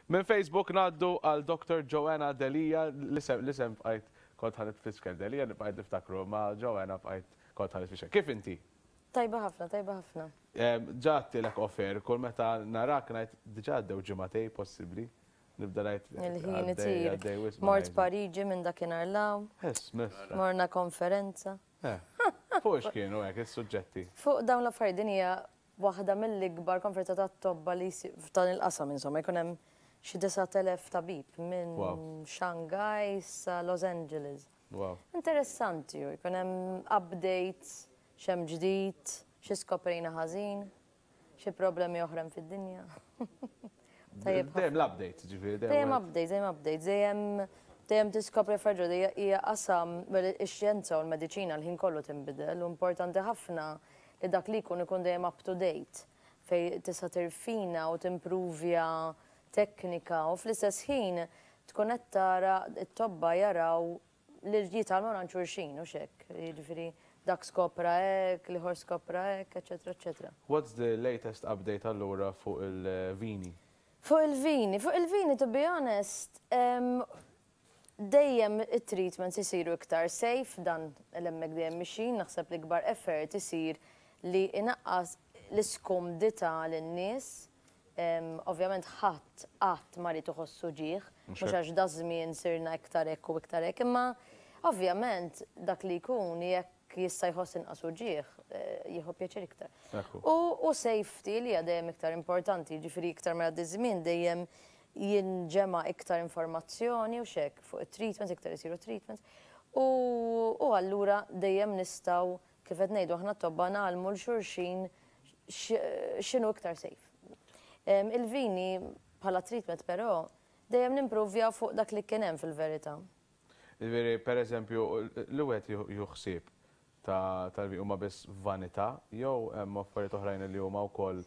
Minn Facebook ngħaddu għal Dr. Joanna Delia, l-isem l-isem bqajt kont ħa nitfixkel Delia bqajt niftakru, ma Joanna bqajt kont ħa nitfixkel. Kif inti? Tajba ħafna, tajba ħafna. Ġa għedtilek off air, kull meta narak ngħid diġà għaddew ġimagħtej possibbli. Nibda ngħid. Il-ħin itir. Mort Pariġi minn dakinhar 'l hawn. Morna konferenza. Fuq x'kienu hekk is-suġġetti? Fuq dawn l-affarijiet din hija waħda mill-ikbar konferenza tat-tobba li jsir f'dan il-qasam insomma jkun hemm xi 9,000 tabib minn Shanghai sa Los Angeles. Interessanti hu, jkun hemm updates, x'hemm ġdid, xi skoprejna ħażin, xi problemi oħra hemm fid-dinja. Tajjeb. Dejjem l-updates, ġifieri. Dejjem updates, dejjem updates, dejjem dejjem tiskopri affarijiet ġodda hija qasam ix-xjenza u l-mediċina l-ħin kollu tinbidel u importanti ħafna li dak li jkun ikun dejjem up to date fejn tista' tirfina u timpruvja teknika u fl-istess ħin tkun qed tara t-tobba jaraw li jitgħallmu minn xulxin u hekk. Jiġifieri dak skopra hekk, l-ieħor skopra hekk, eċetera, eċetera. What's the latest update allura fuq il-vini? Fuq il-vini, fuq il-vini to be honest, dejjem it-treatments isiru iktar safe, dan l-hemmhekk dejjem mixin, naħseb li kbar effort isir li inaqqas l-iskumdità lin-nies. Ovvjament ħadd qatt ma ried iħossu uġigħ, mhux għax da żmien sirna iktar hekk u iktar hekk, imma ovvjament dak li jkun jekk jista' jħoss inqas uġigħ, jieħu pjaċir iktar. U safety li hija dejjem iktar importanti, jiġifieri iktar ma jgħaddi żmien dejjem jinġema' iktar informazzjoni u x'hekk fuq it-treatments, iktar isiru treatments. U allura dejjem nistgħu kif qed ngħidu aħna t-tobba ngħallmu 'l xulxin x'inhu iktar safe. Il-vini bħala treatment però dejjem nimpruvjaw fuq dak li kien hemm fil-verità. Jiġifieri pereżempju li wieħed jieħu ħsieb tal-vini huma biss vanità jew hemm affarijiet oħrajn li huma wkoll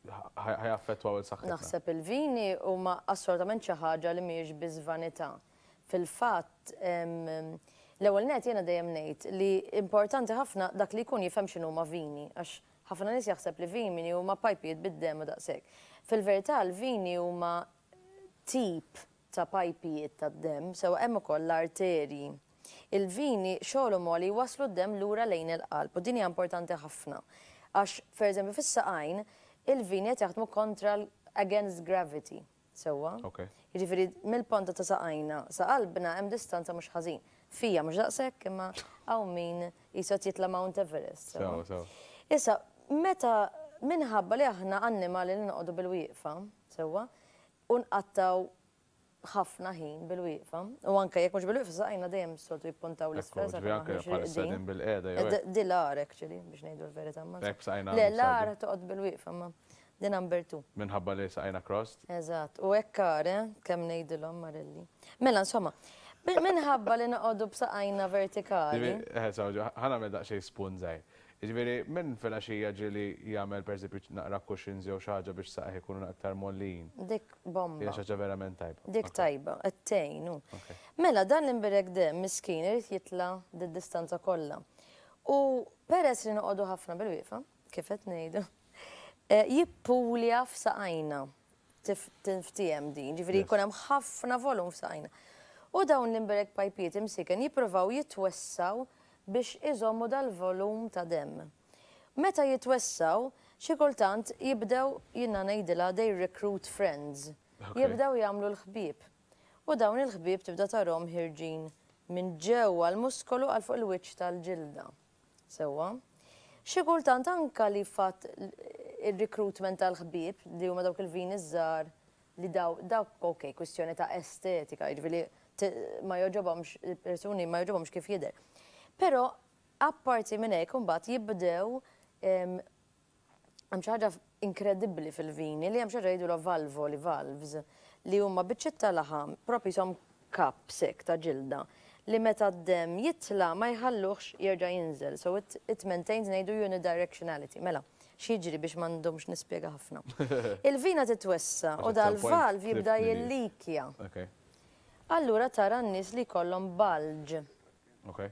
ħa jaffettwaw 'il saħħitna? Naħseb il-vini huma assolutament xi ħaġa li mhijiex biss vanità. Fil-fatt, l-ewwel nett jiena dejjem ngħid li importanti ħafna dak li jkun jifhem x'inhuma vini għax ħafna nies jaħseb li vini huma pajpijiet bid-demm u daqshekk. Fil-verità l-vini huma tip ta' pajpijiet tad-demm, sewwa hemm ukoll l-arterji. Il-vini xogħolhom huwa li jwasslu d-demm lura lejn il-qalb u din hija importanti ħafna għax pereżempju fis-saqajn il-vini qed jaħdmu kontra against gravity, sewwa? Jiġifieri mill-ponta ta' saqajna sa qalbna hemm distanza mhux ħażin. Fija mhux daqshekk imma hawn min qisu qed jitla' Mount Everest. Sewwa. Issa, meta minħabba li aħna annimali li noqogħdu bil-wieqfa, sewwa, u nqattgħu ħafna ħin bil-wieqfa, u anke jekk mhux bil-wieqfa saqajna dejjem s-soltu jippuntaw l-isfel sakemm aħna mhux riqdin. bil-qiegħda jew hekk. Di l-agħar actually biex ngħidu l-verità ma. Hekk b'saqajna. Le l-agħar toqgħod bil-wieqfa ma di number 2. Minħabba li saqajna crossed? Eżatt, u hekk agħar eh, kemm ngħidilhom Marelli. Mela insomma, minħabba li noqogħdu b'saqajna vertikali. Eh, ħa nagħmel daqsxejn spunt żgħir. Jiġifieri min filgħaxija ġieli jagħmel pereżempju naqra cushions jew xi ħaġa biex saqajh ikunu aktar mgħollijin. Dik bomba. Hija xi ħaġa verament tajba. Dik tajba, qed tgħin hu. Mela dan l-imbirek demm miskin irid jitla' did-distanza kollha. U peress li noqogħdu ħafna bil-wieqfa, kif qed ngħidu, jippulja f'saqajna. Tinftiehem din, ġifieri jkun hemm ħafna volum f'saqajna. U dawn l-imbirek pajpijiet imsieken jippruvaw jitwessgħu biex iżommu dal-volum ta' demm. Meta jitwessgħu, xi kultant jibdew, jiena ngħidilha they recruit friends. Jibdew jagħmlu l-ħbieb. U dawn il-ħbieb tibda tarahom ħierġin minn ġewwa l-muskolu għal fuq il-wiċċ tal-ġilda. Sewwa? Xi kultant anka li fatt ir-recruitment tal-ħbieb, li huma dawk il-vini ż-żgħar li daw, dawk ok, kwistjoni ta' estetika, jiġifieri ma jogħġobhomx, il-persuni ma jogħġobhomx kif jidher. Però apparti minn hekk imbagħad jibdew hemm xi ħaġa inkredibbli fil-vini li hemm xi ħaġa jgħidulha valvoli, valves, li huma biċċiet ta' laħam, proprju qishom cups hekk ta' ġilda, li meta d-demm jitla' ma jħalluhx jerġa' jinżel. So it, it maintains ngħidu unidirectionality. Mela, x'jiġri biex ma ndumx nispjega ħafna. Il-vina titwessa' u dal-valve jibda jillikja. Allura tara n-nies li jkollhom bulge. Okay.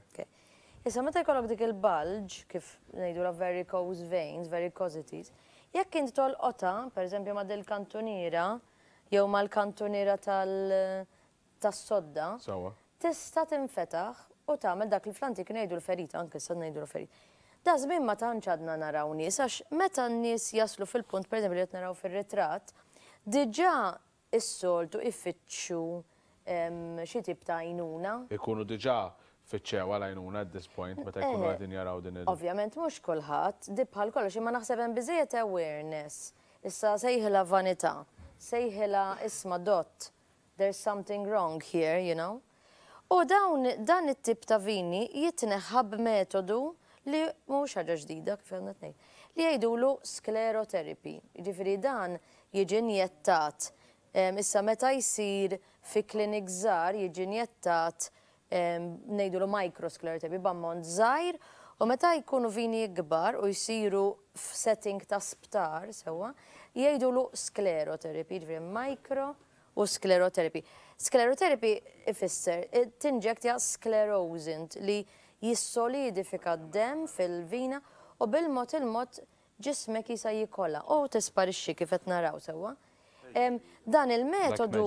Issa meta jkollok dik il-bulge, kif ngħidulha varicose veins, varicosities, Jekk inti tolqotha, pereżempju ma' dil-kantuniera jew mal-kantuniera tal tas-sodda, tista' tinfetaħ u tagħmel dak li fl-antik ngħidu l-ferita, anke issa ngħidu l-ferita. Da żmien ma tantx għadna naraw nies għax meta n-nies jaslu fil-punt pereżempju li qed naraw fir-ritratt, diġà is-soltu ifittxu xi tip ta' għajnuna. Ikunu diġà fittxew għal għajnuna at this point meta jkunu qegħdin jaraw din il. Ovvjament mhux kulħadd, di bħal kollox, imma naħseb hemm biżżejjed awareness. Issa sejħilha vanità, sejħilha isma' dott, there's something wrong here, you know. U dawn, dan it-tip ta' vini jitneħħa b'metodu li mhuwiex ħaġa ġdida kif għadna qed ngħid, li jgħidulu sclerotherapy. Jiġifieri dan jiġi injettat, issa meta jsir fi clinics żgħar jiġi injettat ngħidulu microsclerotherapy b'ammont żgħir u meta jkunu vini ikbar u jsiru f'setting ta' sptar sewwa, jgħidulu sclerotherapy, jiġifieri micro u sclerotherapy. Sclerotherapy ifisser tinġektja sclerosant li jissolidifika d-demm fil-vina u bil-mod il-mod ġismek jisa jikolha u tisparixxi kif qed naraw sewwa. Dan il-metodu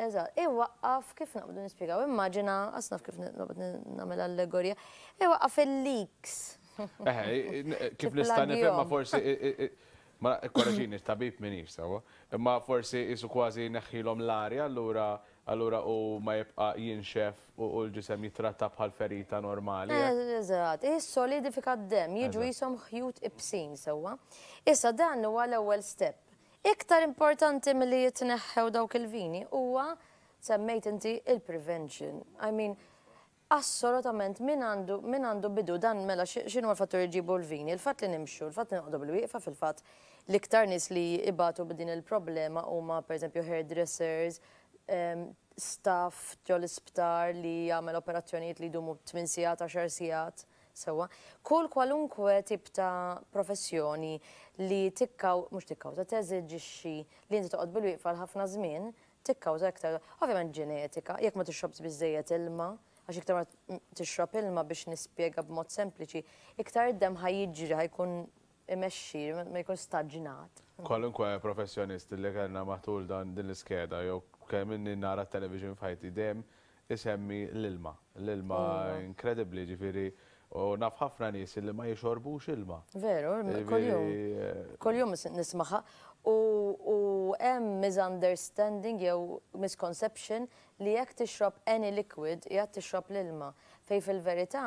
Eżatt, iwaqqaf kif naqbdu nispjegaw, immaġina, qas naf kif naqbad nagħmel allegorija, iwaqqaf il-leaks. Eħe, kif nista' nifhem ma forsi ma korreġini tabib minix sewwa, imma forsi qisu kważi jneħħilhom l-arja allura allura hu ma jibqa' jinxef u l-ġisem jittratta bħal ferita normali. Eżatt, jissolidifika d-demm, jiġu qishom ħjut ibsin sewwa. Issa dan huwa l-ewwel step. Iktar importanti milli jitneħħew dawk il-vini huwa, semmejt inti, il-prevention. I mean, assolutament min għandu min għandu bidu dan mela x'inhuma l-fatturi li jġibu l-vini? Il-fatt li nimxu, il-fatt li noqogħdu bil-wieqfa fil-fatt l-iktar nies li jbatu b'din il-problema huma pereżempju hairdressers, staff ġol-isptar li jagħmel operazzjonijiet li jdumu tmien sigħat, għaxar sigħat. Sewwa. Kull kwalunkwe tip ta' professjoni li tikkaw, mhux tikkawża, teżiġixxi li inti toqgħod bilwieqfa għal ħafna żmien, tikkawża iktar, ovvjament ġenetika, jekk ma tixrobx biżżejjed ilma, għax iktar ma tixrob ilma biex nispjega b'mod sempliċi, iktar id-demm ħa jiġri, ħa jkun imexxi, ma jkunx staġnat. Kwalunkwe professjonist li kellna matul dan din l-iskeda jew kemm inni nara t-television f'ħajti dejjem isemmi l-ilma. L-ilma inkredibbli, ġifieri u naf ħafna nies li ma jixorbux ilma. Veru, kuljum. Kuljum nismaha. U hemm misunderstanding jew misconception li jekk tixrob any liquid qiegħed tixrob l-ilma. Fejn fil-verità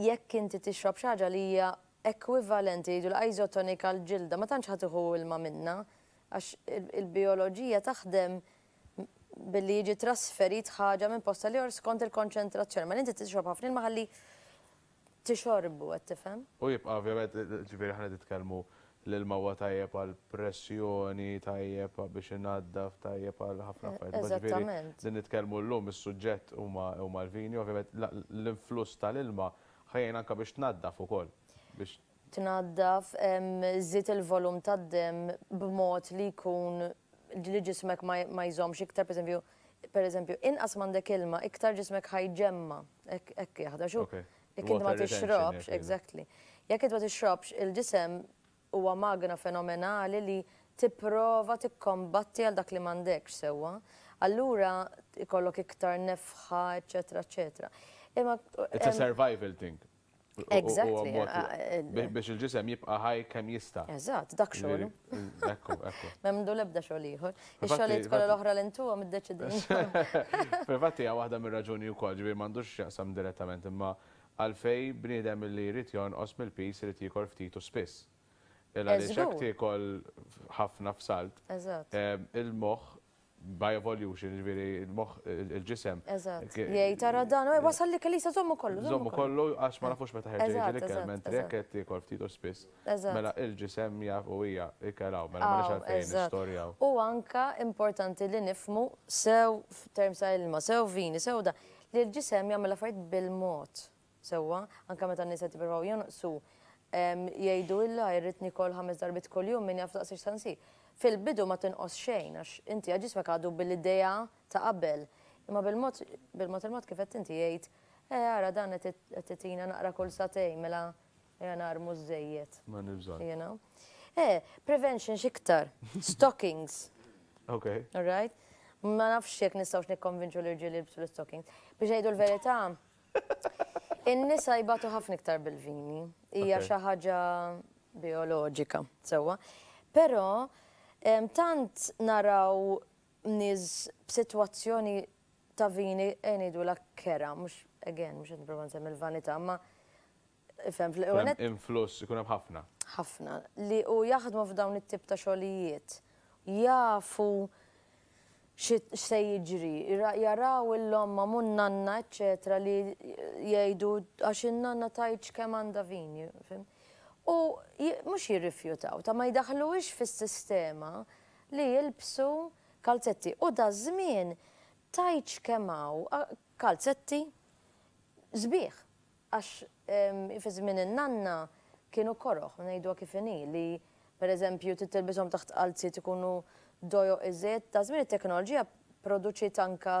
jekk inti tixrob xi ħaġa li hija ekwivalenti jgħidu l-isotonika għall-ġilda, ma tantx ħa tieħu ilma minnha għax il-bijoloġija taħdem billi jiġi trasferit ħaġa minn post għal ieħor skont il-konċentrazzjoni. Mela inti tixrob ħafna ilma ħalli tixorbu, qed tifhem? U jibqa' ovvjament, ġifieri aħna nitkellmu l-ilma huwa tajjeb għal pressjoni, tajjeb biex inaddaf, tajjeb għal ħafna affarijiet. Eżattament. Din nitkellmu llum is-suġġett huma l-vini, ovvjament l-influss tal-ilma ħa jgħin anke biex tnaddaf ukoll. Biex Tnaddaf, żżid il-volum tad-demm b'mod li jkun li ġismek ma jżommx iktar, pereżempju, pereżempju, inqas m'għandek ilma, iktar ġismek ħa jġemma', hekk jaħdem. Għax hu jekk inti ma tixrobx, exactly. Jekk inti ma tixrobx, il-ġisem huwa magna fenomenali li tipprova tikkombatti għal dak li m'għandekx sewwa. Allura jkollok iktar nefħa, eċċetera, eċċetera. Imma It's a survival thing. Exactly. Biex il-ġisem jibqa' ħaj kemm jista'. Eżatt, dak xogħlu. Ekku, ekku. M'għandu l-ebda xogħol ieħor. Ix-xogħlijiet kollha l-oħra li ntuhom iddeċidejna. Fil-fatt hija waħda mir-raġuni wkoll, ġifieri m'għandux x'jaqsam direttament, imma għalfejn bniedem li jrid jonqos mill-piż irid jiekol ftit u spiss. Il għaliex jekk tiekol ħafna f'salt, il-moħħ by evolution, ġifieri il-moħħ, il-ġisem. Eżatt. Jgħid ara dan, wasal l-ikel issa żommu kollu. Żommu kollu għax ma nafux meta ħerġa jiġi l-ikel, mentri jekk qed tiekol ftit u spiss. Mela il-ġisem jaf u hija ikel hawn, mela m'għandniex għalfejn nistorjaw. U anka importanti li nifhmu sew f'terms ta' ilma, sew vini, sew da, li l-ġisem jagħmel affarijiet bil-mod. Sewwa, anke meta n-nies qed jippruvaw jonqsu, jgħidu illa irrid niekol ħames darbiet kuljum min jaf daqs x'sa nsir. Fil-bidu ma tinqos xejn għax inti għad ġismek għadu bil-idea ta' qabel. Imma bil-mod bil-mod il-mod kif għedt inti jgħid, eh ara dan qed itina naqra kull sagħtejn mela. Ejja narmu żejjed. Ma bżonn. You know? Prevention x'iktar. Stockings. All right? Ma nafx jekk nistgħux nikkonvinċu l-irġiel jilbsu l-stockings. Biex ngħidu l-verità, in-nisa jbatu ħafna iktar bil-vini. Hija xi ħaġa bioloġika, sewwa. Però tant naraw nies b'sitwazzjoni ta' vini ngħidu la kera, mhux again, mhux qed nipprova nsemmi l-vanità, ma ifhem fl Influss ikun hemm ħafna. Ħafna li u jaħdmu f'dawn it-tip ta' xogħlijiet. Jafu x'se jiġri, jaraw l-omma mun nanna, eccetera, li jgħidu għax in-nanna tgħidx kemm għandha vini. U mhux jirrifjutaw, ta' ma jdaħluhiex fis-sistema li jilbsu kalzetti. U da żmien tgħidx kemm hawn kalzetti sbieħ. Għax fi żmien in-nanna kienu koroħ, ngħiduha kif inhi, li per eżempju titilbishom taħt qalziet ikunu dojoq iżjed. Da żmien it-teknoloġija produċiet anka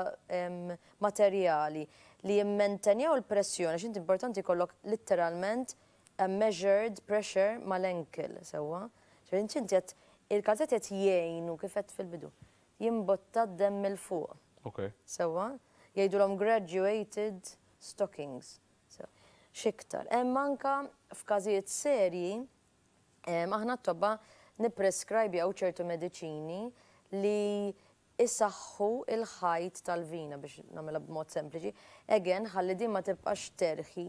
materjali li jimmantenjaw il-pressjoni, għax inti importanti jkollok literalment a measured pressure mal-ankle, sewwa. Inti qed il-kalzetti qed jgħinu kif qed fil-bidu. Jimbotta d-demm 'il fuq. Sewwa? Jgħidulhom graduated stockings. X'iktar. Hemm anka f'każijiet serji aħna t-tobba nipprescribjaw ċertu mediċini li isaħħu il-ħajt tal-vina biex nagħmilha b'mod sempliċi. Again, ħalli din ma tibqax terħi,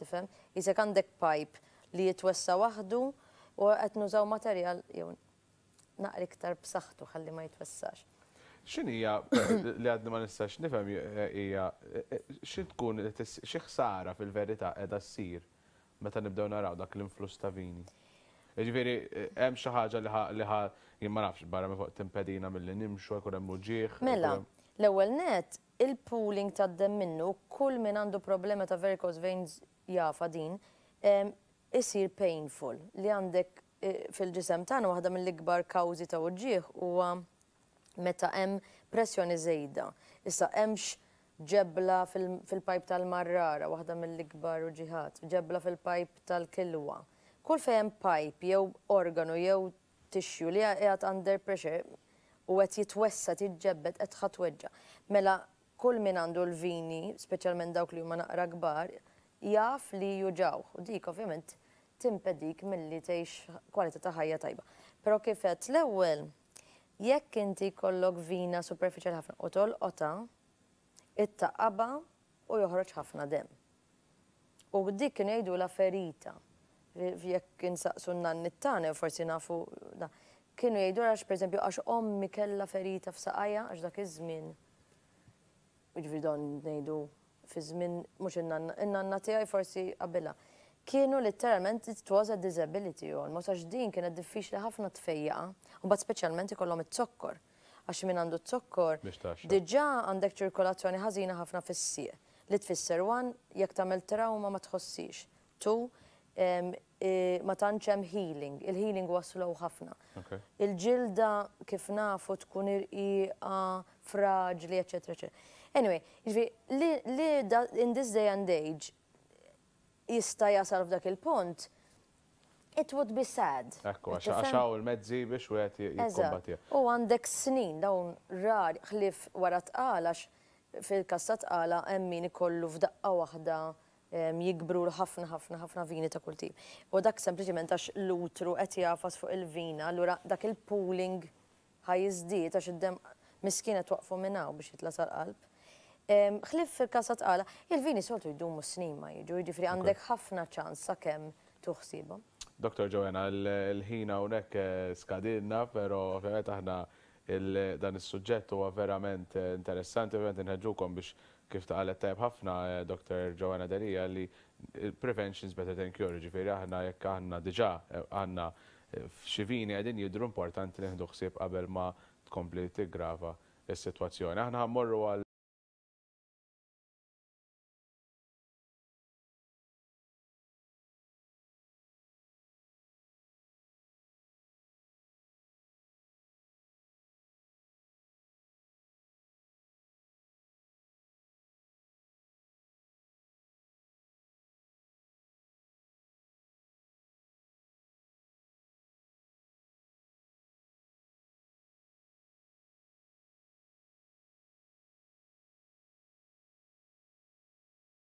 tifhem? Isek għandek pipe li jitwessa waħdu u qed nużaw materjal jew naqra iktar b'saħħtu ħalli ma jitwessax. X'inhija li għadni ma nistax nifhem hija xi tkun xi ħsara fil-verità qiegħda ssir meta nibdew naraw dak l-influss ta' vini. Ġifieri hemm xi ħaġa li ħa jien ma nafx barra minn fuq timpedina milli nimxu jkun hemm uġigħ. Mela, l-ewwel net il-pooling tad-demm minnu kull min għandu problema ta' varicose veins jafa din, isir painful li għandek fil-ġisem tagħna waħda mill-ikbar kawżi ta' uġigħ huwa meta hemm pressjoni żejda. Issa hemmx ġebla fil-pajp tal-marrara, waħda mill-ikbar uġigħat, ġebla fil-pajp tal-kilwa. Kull fejn hemm pipe jew organu jew tissue li qiegħed under pressure u qed jitwessa tiġġebbed qed ħa tweġġa'. Mela kull min għandu l-vini, speċjalment dawk li huma naqra kbar, jaf li juġgħu. U dik ovvjament timpedik milli tgħix kwalità ta' ħajja tajba. Però kif għedt l-ewwel, jekk inti jkollok vina superfiċjali ħafna u tolqotha, ittaqabha u joħroġ ħafna demm. U dik kienu jgħidulha ferita. Jekk insaqsu n-nanni tagħna, forsi nafu, kienu jgħidu għax pereżempju għax ommi kellha ferita f'saqajha għax dak iż-żmien. Jiġifieri dan ngħidu fi żmien mhux in-nanna, in-nanna tiegħi forsi qabilha. Kienu literalment it was a disability almost għax din kienet diffiċli ħafna tfejjaqa. U mbagħad speċjalment ikollhom iz-zokkor. Għax min għandu z-zokkor diġà għandek ċirkolazzjoni ħażina ħafna fis-sieq. Li tfisser one, jekk tagħmel trauma ma tħossix. Two, ma tantx hemm healing. Il-healing huwa slow ħafna. Il-ġilda kif nafu tkun irqiqa, fraġli, eccetera, eccetera. Anyway, jiġifieri li in this day and age jista' jasal f'dak il-punt, it would be sad. Ekku, għax hawn il-mezzi biex wieħed jikkombatti. U għandek snin dawn rar ħlief wara tqala għax fil-każ ta' tqala hemm min ikollu f'daqqa waħda jikbru ħafna ħafna ħafna vini ta' kull tip. U dak sempliċement għax l-utru qed jagħfas fuq il-vina, allura dak il-pooling ħa jiżdied għax id-demm miskin qed waqfu minn hawn biex jitla' sal-qalb. Ħlief fil-każ ta' tqala, il-vini soltu jdumu snin ma jiġu, jiġifieri għandek ħafna ċans sakemm tuħsibhom. Dr. Joanna, il-ħin hawnhekk skadilna, però ovvjament aħna dan is-suġġett huwa verament interessanti, ovvjament inħeġġukom biex kif qalet tajjeb ħafna Dr. Joanna Delia li prevention is better than cure, ġifieri aħna jekk aħna diġà għandna xi vini qegħdin jidhru importanti li nieħdu ħsieb qabel ma tkompli tiggrava s-sitwazzjoni. Aħna ħa mmorru għal